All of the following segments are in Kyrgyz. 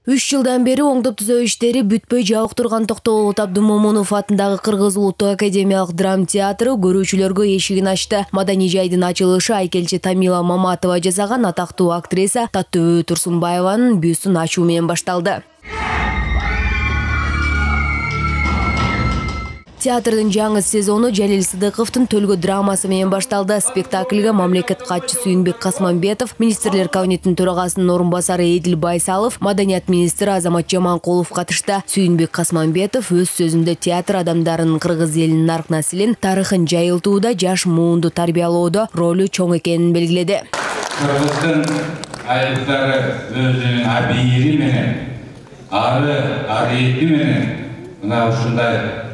3 жылдан бери оңдоп түзөө иштери бүтпөй жабык турган Токтогул Абдумомунов атындагы Кыргыз улуттук академиялык драма театры көрүүчүлөргө эшигин ачты. Маданий жайдын ачылышы айкелчи Тамила Маматова жасаган атактуу актриса Таттыбү Турсунбаеванын бюстун ачуу менен башталды. Театрдын жаңы сезону Жалил Сыдыковдун Төлгө драмасы менен башталды. Спектакльге мамлекет катчысы Сүйүнбек Касманбетов, министрлер кабинетинин төрагасынын орун басары Эдил Байсалов, маданият министри Азамат Жаманкулов катышты. Сүйүнбек Касманбетов өз сөзүндө театр адамдарынын кыргыз элинин нарк-населин, тарыхын жайылтууда, жаш муунду тарбиялоодо ролу чоң экенин белгиледи. Кыргыздын айылдары өзүнүн абийири менен, арыйети менен мына ушундай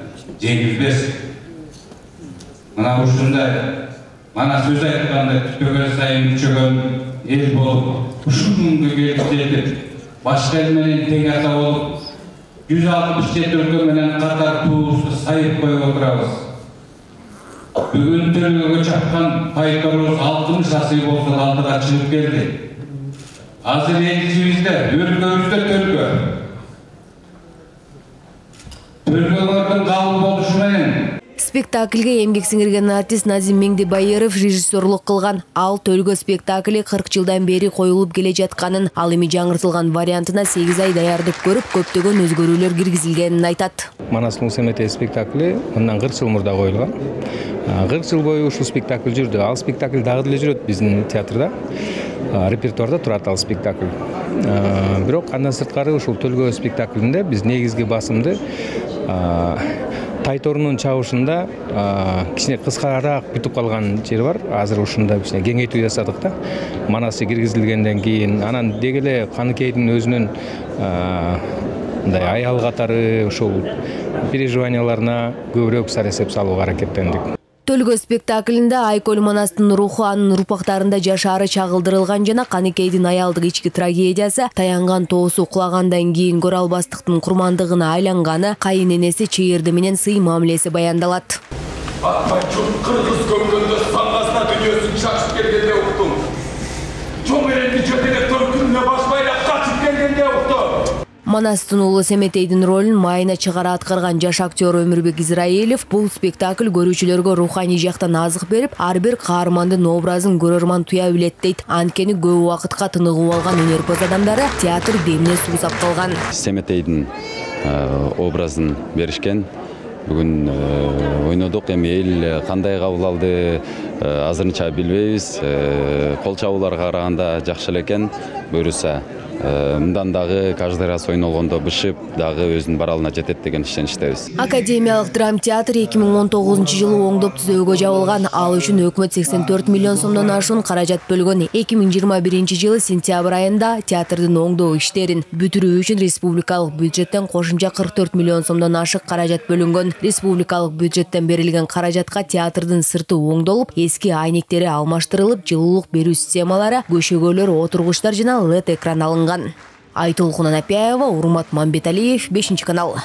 жеңилбес, мына ушундай мана сөз айтканда күтпөгөн сайын күчөгөн эл болуп, ушул күнгө келип жетип, башка эл менен тең ата болуп, 167 өлкө менен катар туубузду сайып коюп отурабыз. Бүгүн Төлгөгө чапкан пайторубуз 60 асый болсо алдыга чыгып келди. Азыр элибизде, өлкөбүздө Төлгө. Төлгөлөрдүн кабыл болушу менен спектакльге эмгек сиңирген артист Назим Меңдибайыров режиссерлук кылган. Ал Төлгө спектакли 40 жылдан бери коюлуп келе жатканын, ал эми жаңыртылган вариантына 8 ай даярдык көрүп, көптөгөн өзгөрүүлөр киргизилгенин айтат. Манас Мусемете спектакли мындан 40 жыл мурда коюлган. 40 жыл бою ушул спектакль жүрдү. Ал спектакль дагы деле жүрөт биздин театрда. Репертуарда турат ал спектакль. Бирок андан сырткары ушул Төлгө спектаклинде биз негизги басымды Тайторунун чабышында кичине кыскараак бүтүп калган жери бар. Азыр ушунда кичине кеңейтүү жасадык да. Манасы киргизилгенден кийин анан деги эле Каныкейдин өзүнүн мындай аял катары ушул переживанияларына көбүрөөк саресеп салууга аракеттендик. Төлгө спектаклинде Айкөл Манастын руху анын урпактарында жашаары чагылдырылган жана Каныкейдин аялдык ички трагедиясы, таянган тоосу кулагандан кийин көрө албастыктын курмандыгына айланганы, кайын энеси чыйырды менен сый мамилеси баяндалат. Кыргыз көмгөндө саңгасына дүйнөсүн чачып келгенде уктум. Чоң эленди жөтелеп төркүнүнө баш байлап качып келгенде уктум. Манастын уулу Семетейдин ролун майына чыгара аткарган жаш актер Өмүрбек Израилов бул спектакль көрүүчүлөргө руханий жактан азык берип, ар бир каармандын образын көрөрман туя билет дейт. Анткени көп убакытка тыныгып алган өнөрпөз адамдары театр демине суусап калган. Семетейдин образын беришкен. Бүгүн ойнодук, эми эл кандай кабыл алды азырынча билбейбиз. Кол чабууларга караганда жакшы эле экен. Буюрса мындан дагы каждый раз ойнолгондо бышып дагы өзүнүн баралына жетет деген ишеничтебиз. Академиялык драма театр 2019-жылы оңдоп түзөөгө жабылган. Ал үчүн өкмөт 84 миллион сомдон ашуун каражат бөлгөн. 2021-жылы сентябрь айында театрдын оңдоо иштерин бүтүрүү үчүн республикалык бюджеттен кошумча 44 миллион сомдон ашык каражат бөлүнгөн. Республикалык бюджеттен берилген каражатка театрдын сырты оңдолуп, эски айнектери алмаштырылып, жылуулук берүү системалары, көшөгөлөр, отургучтар жана LED экран алынган. Айтолкун Анапяева, Урмат Мамбеталиев, 5 канал.